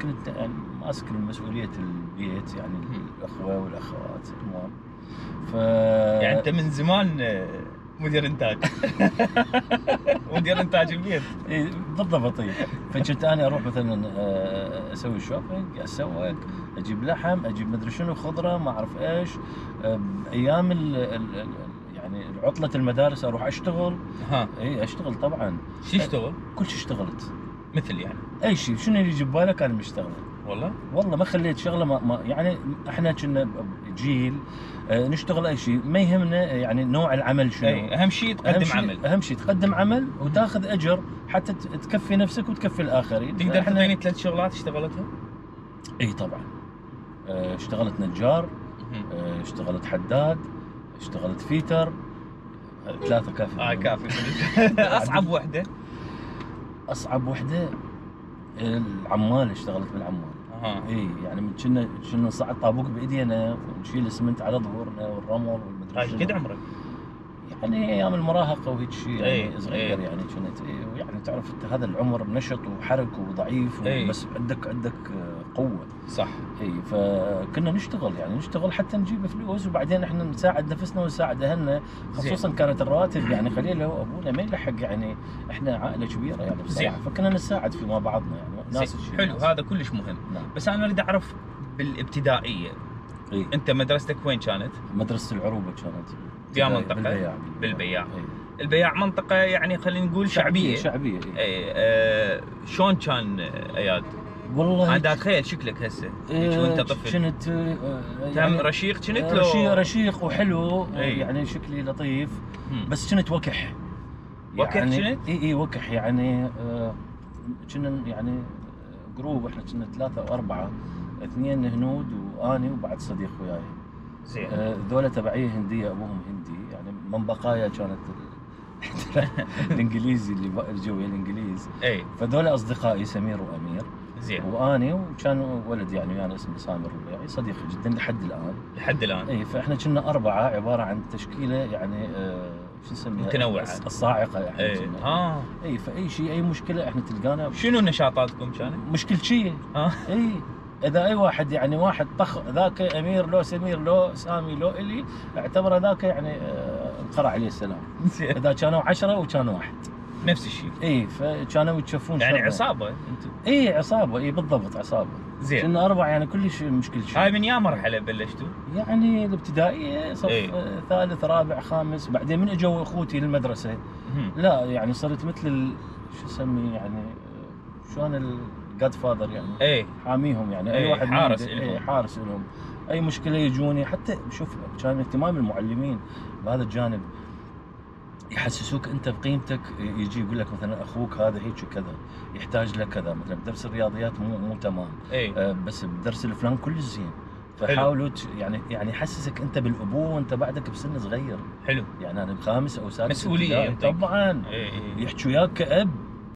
كنت يعني ماسك مسؤوليه البيت يعني الاخوه والاخوات المهم. يعني انت من زمان مدير انتاج. مدير انتاج البيت. اي بالضبط. فكنت انا اروح مثلا اسوي شوبينج، اسوق، اجيب لحم، اجيب مدري شنو، خضره، ما اعرف ايش. ايام يعني عطله المدارس اروح اشتغل. اي اشتغل طبعا. شو اشتغل؟ كل شيء اشتغلت. مثل يعني اي شيء، شنو اللي يجي ببالك انا مشتغله. والله ما خليت شغله ما يعني احنا كنا جيل نشتغل اي شيء، ما يهمنا يعني نوع العمل شنو. اهم شيء تقدم عمل. اهم شيء تقدم عمل وتاخذ اجر حتى تكفي نفسك وتكفي الاخرين. تقدر تعطيني 3 شغلات اشتغلتها؟ اي طبعا. اشتغلت نجار، اشتغلت حداد، اشتغلت فيتر. 3 كافي. كافي. اصعب وحده؟ اصعب وحده العمال، اشتغلت بالعمال. اي يعني كنا نصعد طابوق بايدينا ونشيل اسمنت على ظهورنا والرمل والمدري شنو. قد عمرك؟ يعني ايام المراهقه وهيك شيء يعني صغير. يعني كنت يعني تعرف انت هذا العمر نشط وحرك وضعيف بس عندك قوه. صح. اي فكنا نشتغل حتى نجيب فلوس، وبعدين احنا نساعد نفسنا ونساعد اهلنا، خصوصا كانت الرواتب يعني قليله وابونا ما يلحق، يعني احنا عائله كبيره يعني بصراحه، فكنا نساعد فيما بعضنا يعني ناس الشيء. حلو، هذا كلش مهم. نعم. بس انا اريد اعرف بالابتدائيه. انت مدرستك وين كانت؟ مدرسه العروبه كانت في منطقه بالبياع. البياع منطقه يعني خلينا نقول شعبيه. شلون كان اياد؟ والله انا اتخيل شكلك هسه وانت طفل. كنت يعني رشيق كنت لو رشيق وحلو. يعني شكلي لطيف. بس كنت وكح. يعني كنت؟ اي وكح يعني. كنا يعني جروب، احنا كنا 3 أو 4، 2 هنود واني وبعد صديق وياي. زين. ذولا تبعيه هنديه، ابوهم هندي يعني من بقايا كانت الانجليزي اللي جو الانجليز. فذولا اصدقائي سمير وامير. زين. واني وكان ولد يعني انا اسمه سامر الربيعي، صديقي جدا لحد الان. اي فاحنا كنا 4 عباره عن تشكيله يعني شو نسميها؟ متنوعه. الصاعقه يعني. اي فاي شيء اي مشكله احنا تلقانا. شنو نشاطاتكم كانت؟ مشكل شيء. اي اذا اي واحد يعني واحد طخ ذاك امير لو سمير لو سامي لو الي، اعتبر ذاك يعني انقرع عليه السلام. اذا كانوا 10 وكانوا 1 نفس الشيء. اي فكانوا يتشوفون يعني عصابه انتم. اي عصابه. اي بالضبط عصابه. زين. كنا 4 يعني كلش مشكل شيء. هاي من يا مرحله بلشتوا؟ يعني الابتدائيه صف ثالث رابع خامس. بعدين من اجوا اخوتي للمدرسه لا يعني صرت مثل شو اسمي يعني شلون الجاد فاذر يعني. حاميهم يعني. اي واحد حارس لهم. حارس لهم. اي مشكله يجوني. حتى شوف كان اهتمام المعلمين بهذا الجانب، يحسسوك انت بقيمتك. يجي يقول لك مثلا اخوك هذا هيك كذا يحتاج له كذا، مثلا بدرس الرياضيات مو تمام. بس بدرس الفلان كلش زين. فحاولوا يعني يحسسك انت بالابوه وانت بعدك بسن صغير. حلو. يعني انا بخامس او سادس مسؤوليه طبعا. يحكوا وياك كأب.